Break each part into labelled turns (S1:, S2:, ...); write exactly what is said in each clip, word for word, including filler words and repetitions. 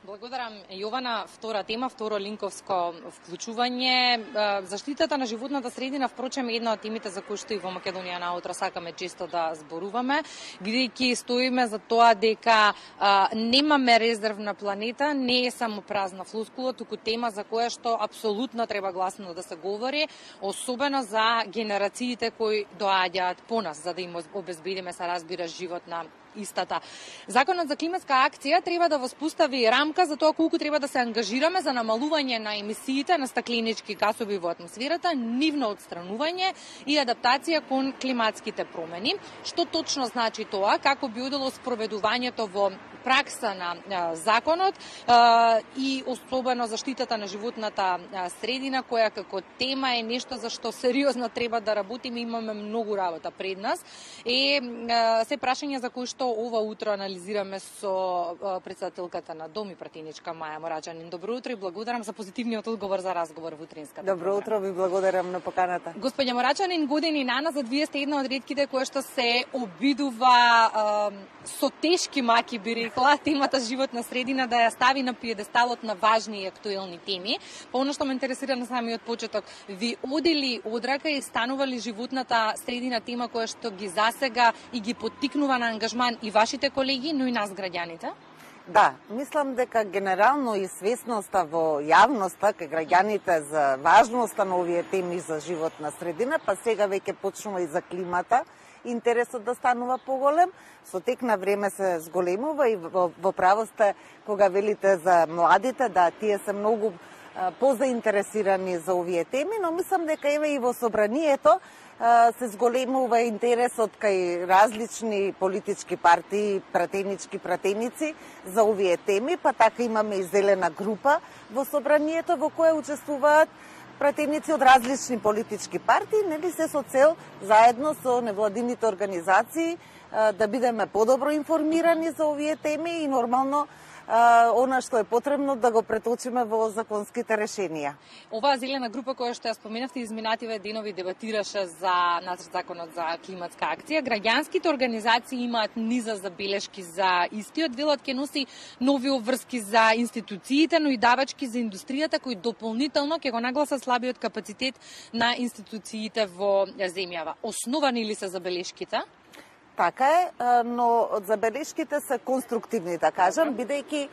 S1: Благодарам, Јована. Втора тема, второ линковско вклучување. Заштитата на животната средина, впрочем, е една од темите за кои што и во Македонија наутро сакаме често да зборуваме, бидејќи стоиме за тоа дека а, немаме резервна планета, не е само празна флускула, туку тема за која што апсолутно треба гласно да се говори, особено за генерациите кои доаѓаат по нас, за да им обезбедиме, се разбира, живот на истата. Законот за климатска акција треба да воспостави рамка за тоа колку треба да се ангажираме за намалување на емисиите на стакленички гасови во атмосферата, нивно отстранување и адаптација кон климатските промени. Што точно значи тоа, како би одело спроведувањето во пракса на а, законот а, и особено заштитата на животната а, средина, која како тема е нешто за што сериозно треба да работиме, имаме многу работа пред нас. И а, се прашања за кои што ова утро анализираме со а, председателката на Дом и пратеничка Маја Морачанин. Добро утро и благодарам за позитивниот одговор за разговор во утринската.
S2: Добро утро, ви благодарам на поканата.
S1: Господја Морачанин, години наназад вие сте една од ретките која што се обидува а, со тешки маки, би рекла, темата животна средина да ја стави на пиедесталот на важни и актуелни теми. По оно што ме интересира на самиот почеток, ви одели одрака и станували животната средина тема која што ги засега и ги поттикнува на ангажман и вашите колеги, но и нас граѓаните?
S2: Да, мислам дека генерално и свесноста во јавноста кај граѓаните за важноста на овие теми за животна средина, па сега веќе почнува и за климата, интересот да станува поголем, со тек на време се зголемува и во, во право сте кога велите за младите, да, тие се многу а, позаинтересирани за овие теми, но мислам дека еве и во собранието а, се зголемува интересот кај различни политички партии, пратенички пратеници за овие теми, па така имаме и зелена група во собранието во која учествуваат пратеници од различни политички партии, нели се со цел заедно со невладините организации да бидеме подобро информирани за овие теми и нормално она што е потребно да го преточиме во законските решенија.
S1: Оваа зелена група која што ја споменавте изминативе денови дебатираше за нацрт законот за климатска акција. Граѓанските организации имаат низа забелешки за истиот. Велот ќе носи нови обврски за институциите, но и давачки за индустријата кои дополнително ќе го нагласат слабиот капацитет на институциите во земјава. Основани ли се забелешките?
S2: Така е, но забелешките се конструктивни, да кажам, бидејќи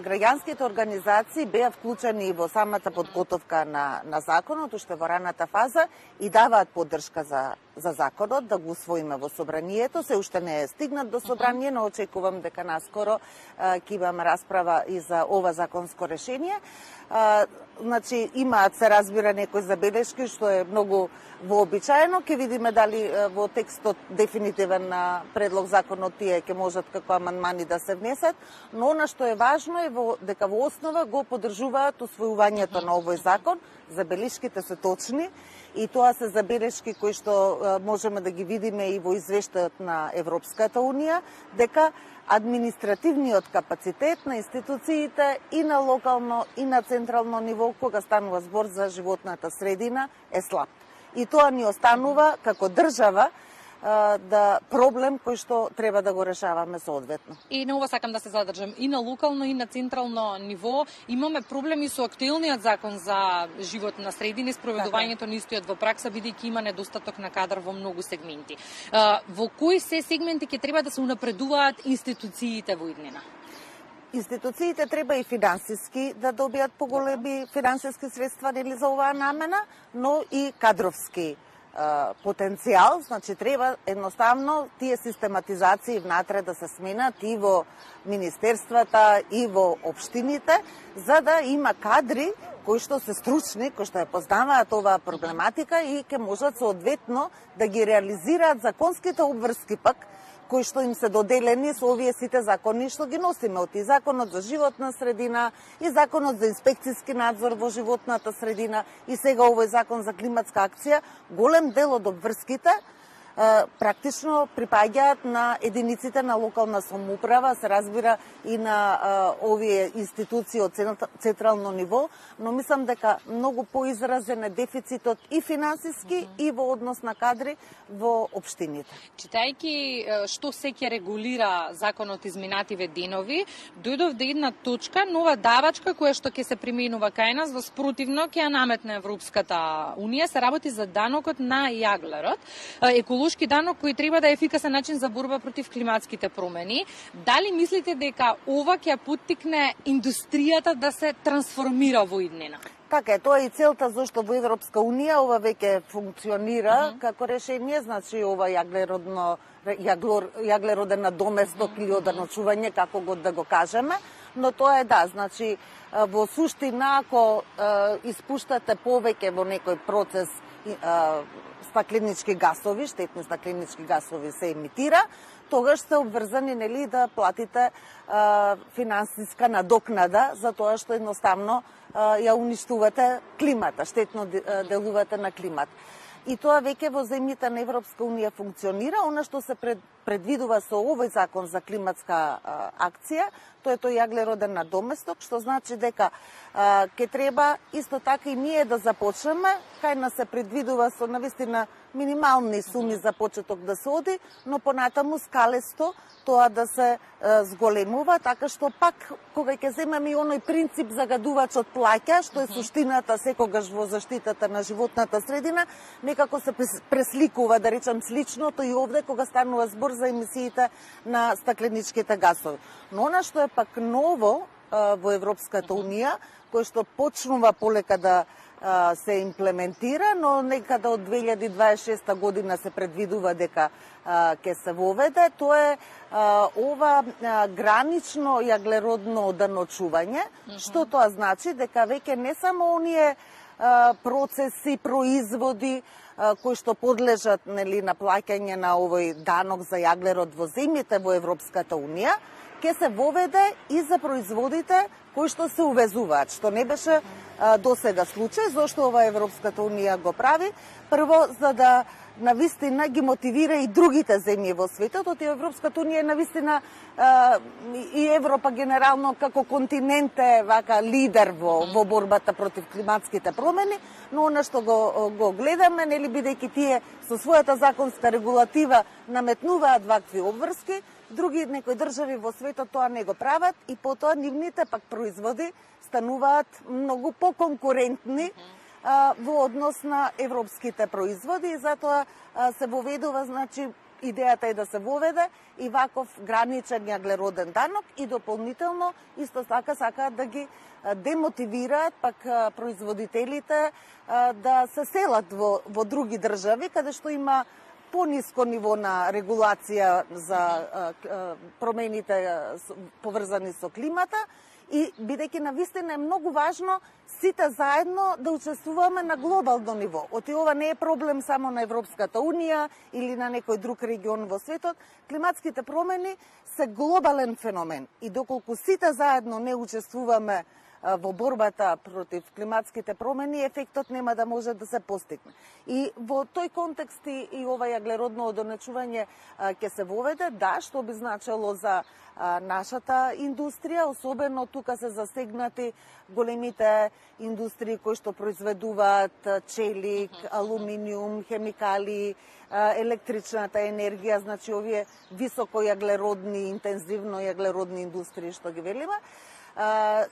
S2: граѓанските организации беа вклучени во самата подготовка на, на законот, уште во раната фаза, и даваат поддршка за, за законот, да го усвоиме во собранието. Се уште не е стигнат до собрание, но очекувам дека наскоро ќе имаме расправа и за ова законско решение. А, значи, имаат се разбира некои забелешки, што е многу вообичаено. Ке видиме дали во текстот дефинитивен на предлог законот тие ќе можат како амандмани да се внесат, но она што е важно е во, дека во основа го поддржуваат усвојувањето на овој закон. Забелешките се точни и тоа се забелешки кои што можеме да ги видиме и во извештајот на Европската унија, дека административниот капацитет на институциите и на локално и на централно ниво кога станува збор за животната средина е слаб. И тоа ни останува како држава да проблем кој што треба да го решаваме соодветно.
S1: И на ова сакам да се задржам. И на локално и на централно ниво имаме проблеми со актуелниот закон за живот на средина и спроведувањето на истиот во пракса, бидејќи има недостаток на кадар во многу сегменти. Во кои се сегменти ќе треба да се унапредуваат институциите во иднина?
S2: Институциите треба и финансиски да добијат поголеми финансиски средства нели за оваа намена, но и кадровски потенцијал, значи треба едноставно тие систематизации внатре да се сменат и во министерствата и во општините, за да има кадри кои што се стручни, кои што ја познаваат оваа проблематика и ќе можат соодветно да ги реализираат законските обврски пак кои што им се доделени со овие сите закони што ги носиме, од и законот за животна средина, и законот за инспекцијски надзор во животната средина, и сега овој закон за климатска акција. Голем дел од обврските практично припаѓаат на единиците на локална самоуправа, се разбира и на а, овие институции од централно ниво, но мислам дека многу поизразен е дефицитот и финансиски mm -hmm. и во однос на кадри во општините.
S1: Читајќи што се ќе регулира законот изминативе денови, дојдов до една точка, нова давачка која што ќе се применува кај нас, во спротивно ќе ја наметне Европската Унија, се работи за данокот на јаглерот, еколошки данок кој треба да е ефикасен начин за борба против климатските промени. Дали мислите дека ова ќе поттикне индустријата да се трансформира во иднина?
S2: Така е, тоа е и целта зашто во Европска Унија ова веќе функционира uh -huh. како решение, значи ова јаглеродно јаглор, јаглероден надоместок uh -huh. или оданочување, како го да го кажеме, но тоа е да, значи во суштина ако е, испуштате повеќе во некој процес е, стакленички гасови, штетни стакленички гасови се емитира, тогаш сте обврзани нели да платите е, финансиска надокнада за тоа што едноставно е, ја уништувате климата, штетно делувате на климат. И тоа веќе во земјите на Европска Унија функционира. Она што се пред, предвидува со овој закон за климатска а, акција, тоа е тој јаглероден надоместок, што значи дека а, ќе треба исто така и ние да започнеме, кај нас се предвидува со навистина минимални суми за почеток да се оди, но понатаму скалесто тоа да се а, зголемува, така што пак кога ќе земеме и оној принцип загадувачот плаќа, што е суштината секогаш во заштитата на животната средина, некако се пресликува, да речам, сличното и овде кога станува збор за емисиите на стакленичките гасови. Но она што е пак ново а, во Европската Унија, кој што почнува полека да а, се имплементира, но некада од две илјади дваесет и шеста година се предвидува дека а, ќе се воведе, тоа е а, ова а, гранично јаглеродно оданочување, mm-hmm. што тоа значи дека веќе не само оние а, процеси, производи кои што подлежат нели на плаќање на овој данок за јаглерод во земјите во Европската Унија, ќе се воведе и за производите кои што се увезуваат, што не беше а, досега случај, зашто ова Европската Унија го прави, прво за да навистина ги мотивира и другите земји во светот, од Европската Унија навистина а, и Европа генерално како континент е вака лидер во, во борбата против климатските промени, но она што го, го гледаме, нели бидејќи тие со својата законска регулатива наметнуваат вакви обврски, други некои држави во светот тоа не го прават и потоа нивните пак производи стануваат многу поконкурентни а, во однос на европските производи и затоа а, се воведува, значи идејата е да се воведе и ваков граничен јаглероден данок и дополнително исто така сакаат да ги демотивираат пак производителите а, да се селат во, во други држави каде што има пониско ниво на регулација за а, а, промените поврзани со климата и бидејќи навистина е многу важно сите заедно да учествуваме на глобално ниво. Оти ова не е проблем само на Европската Унија или на некој друг регион во светот. Климатските промени се глобален феномен и доколку сите заедно не учествуваме во борбата против климатските промени, ефектот нема да може да се постигне. И во тој контекст и ова јаглеродно одонечување ќе се воведе, да, што би значило за а, нашата индустрија, особено тука се засегнати големите индустрии кои што произведуваат челик, алуминиум, хемикали, а, електричната енергија, значи овие високо јаглеродни, интензивно јаглеродни индустрии што ги велиме, а,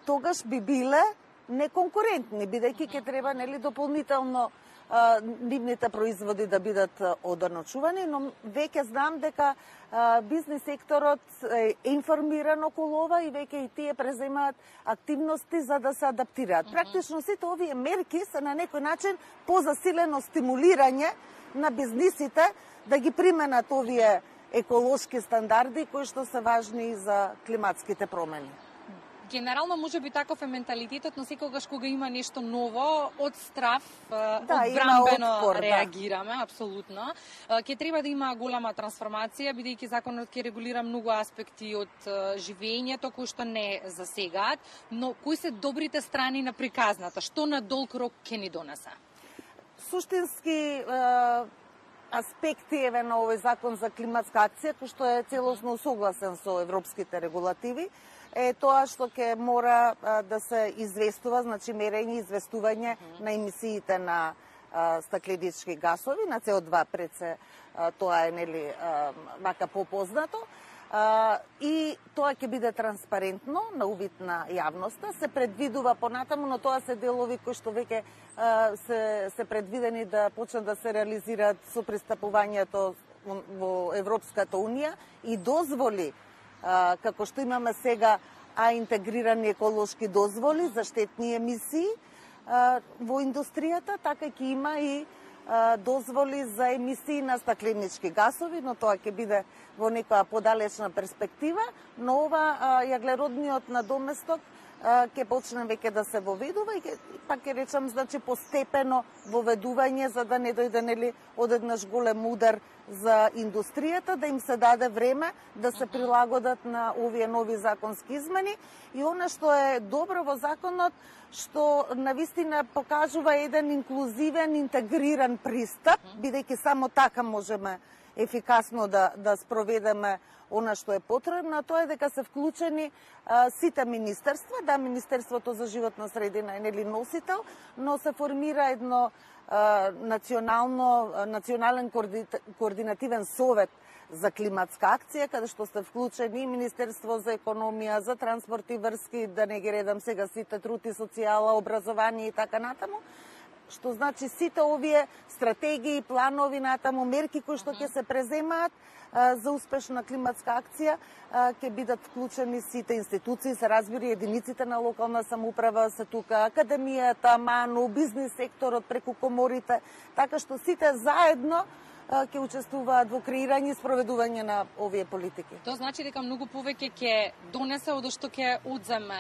S2: тогаш би биле неконкурентни, бидејќи ќе треба нели дополнително а, нивните производи да бидат оданочувани, но веќе знам дека а, бизнис секторот е информиран околу ова и веќе и тие преземаат активности за да се адаптираат. Практично сите овие мерки се на некој начин позасилено стимулирање на бизнисите да ги применат овие еколошки стандарди кои што се важни за климатските промени.
S1: Генерално може би таков е менталитетот, но секогаш кога има нешто ново, од страв,
S2: да,
S1: одбранбено
S2: отпор,
S1: реагираме, да. Апсолутно. Ќе треба да има голема трансформација, бидејќи законот ќе регулира многу аспекти од живењето кои што не засегаат, но кои се добрите страни на приказната? Што на долг рок ќе ни донесе?
S2: Суштински аспекти еве на овој закон за климатска акција, кој што е целосно согласен со европските регулативи, е тоа што ќе мора а, да се известува, значи мерење и известување на емисиите на а, стакленички гасови, на С О два пред се а, тоа е нели а, вака попознато. Uh, и тоа ќе биде транспарентно на увид на јавноста. Се предвидува понатаму, но тоа се делови кои што веќе uh, се, се предвидени да почнат да се реализираат со пристапувањето во Европската Унија и дозволи, uh, како што имаме сега, а интегрирани еколошки дозволи за штетни емисии uh, во индустријата, така ќе има и дозволи за емисии на стакленички гасови, но тоа ќе биде во некоја подалечна перспектива, но ова јаглеродниот надоместок ќе почне веќе да се воведува и ќе, пак ќе речам, значи постепено воведување за да не дојде нели одеднаш голем удар за индустријата, да им се даде време да се прилагодат на овие нови законски измени. И она што е добро во законот, што навистина покажува еден инклузивен, интегриран пристап, бидејќи само така можеме ефикасно да, да спроведеме она што е потребно, тоа е дека се вклучени а, сите министерства, да, Министерството за животна средина е нели носител, но се формира едно а, национално, а, национален коорди, координативен совет за климатска акција, каде што се вклучени и Министерство за економија, за транспорт и врски, да не ги редам сега сите, труд и социјала, образование и така натаму, што значи сите овие стратегии, планови натаму, мерки кои што ќе се преземаат а, за успешна климатска акција, а, ќе бидат вклучени сите институции, се разбира единиците на локална самоуправа се тука, академијата, МАНУ, бизнис секторот преку коморите, така што сите заедно ќе учествуваат во креирање и спроведување на овие политики.
S1: Тоа значи дека многу повеќе ќе донесе од што ќе одземе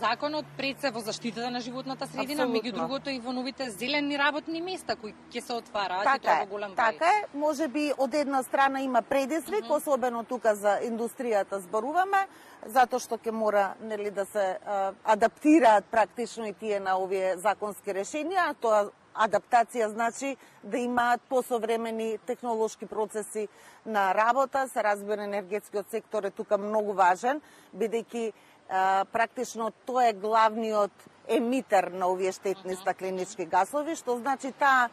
S1: законот пред се во заштитата на животната средина, меѓу другото и во новите зелени работни места кои ќе се отвараат
S2: така
S1: и тоа во голем број.
S2: Така е, можеби од една страна има предизвик, mm -hmm. особено тука за индустријата зборуваме, затоа што ќе мора нели да се а, адаптираат практично и тие на овие законски решенија, тоа адаптација значи да имаат посовремени технолошки процеси на работа, се разбира енергетскиот сектор е тука многу важен, бидејќи практично тоа е главниот емитер на овие штетни стакленички гасови, што значи таа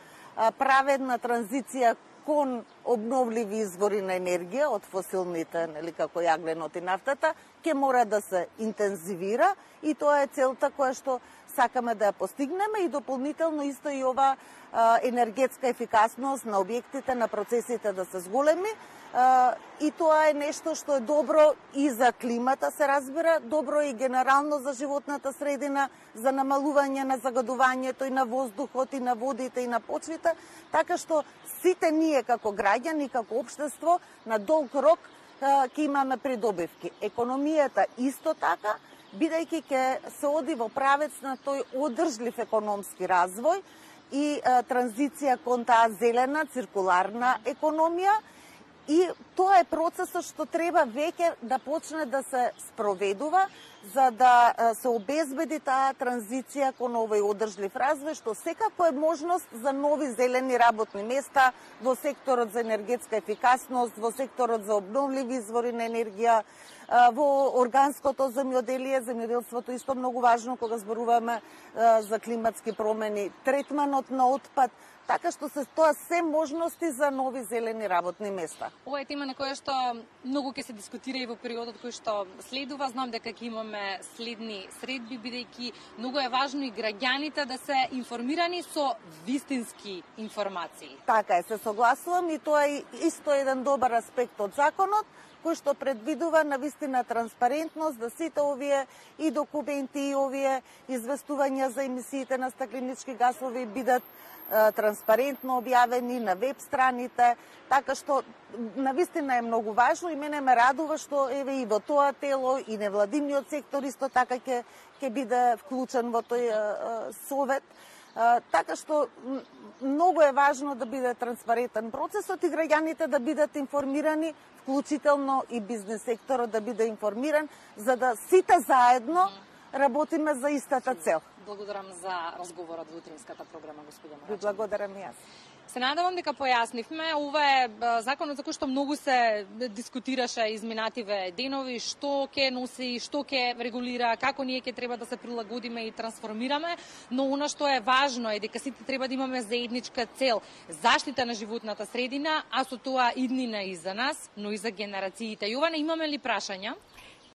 S2: праведна транзиција кон обновливи извори на енергија од фосилните, нели како јагленот и нафтата, ќе мора да се интензивира и тоа е целта која што сакаме да ја постигнеме и дополнително исто и ова а, енергетска ефикасност на објектите, на процесите да се зголеми. А, и тоа е нешто што е добро и за климата, се разбира, добро и генерално за животната средина, за намалување на загадувањето и на воздухот, и на водите, и на почвите, така што сите ние како граѓани, како општество, на долг рок ќе имаме придобивки. Економијата исто така, бидејќи ќе се оди во правец на тој одржлив економски развој и а, транзиција кон таа зелена, циркуларна економија. И тоа е процесот што треба веќе да почне да се спроведува, за да се обезбеди таа транзиција кон овој одржлив развој, што секако е можност за нови зелени работни места во секторот за енергетска ефикасност, во секторот за обновливи извори на енергија, во органското земјоделие, земјоделството исто многу важно кога зборуваме за климатски промени, третманот на отпад, така што се тоа се можности за нови зелени работни места.
S1: Ова е тема на која што многу ќе се дискутира и во периодот кој што следува. Знам дека ќе имаме следни средби, бидејќи многу е важно и граѓаните да се информирани со вистински информации.
S2: Така е, се согласувам и тоа е исто еден добар аспект од законот, кој што предвидува навистина транспарентност, да сите овие и документи и овие известувања за емисиите на стакленички гасови бидат транспарентно објавени на веб страните, така што навистина е многу важно и мене ме радува што еве и во тоа тело и невладиниот сектор исто така ќе ќе биде вклучен во тој а, совет. А, така што многу е важно да биде транспарентен процесот и граѓаните да бидат информирани, вклучително и бизнес секторот да биде информиран, за да сите заедно работиме за истата цел.
S1: Благодарам за разговорот во утринската програма, господина.
S2: Ви благодарам и јас.
S1: Се надевам дека појаснивме. Ова е законот за кој што многу се дискутираше изминативе денови, што ќе носи, што ќе регулира, како ние ќе треба да се прилагодиме и трансформираме, но она што е важно е дека сите треба да имаме заедничка цел, заштита на животната средина, а со тоа иднина и за нас, но и за генерациите. Јована, имаме ли прашања?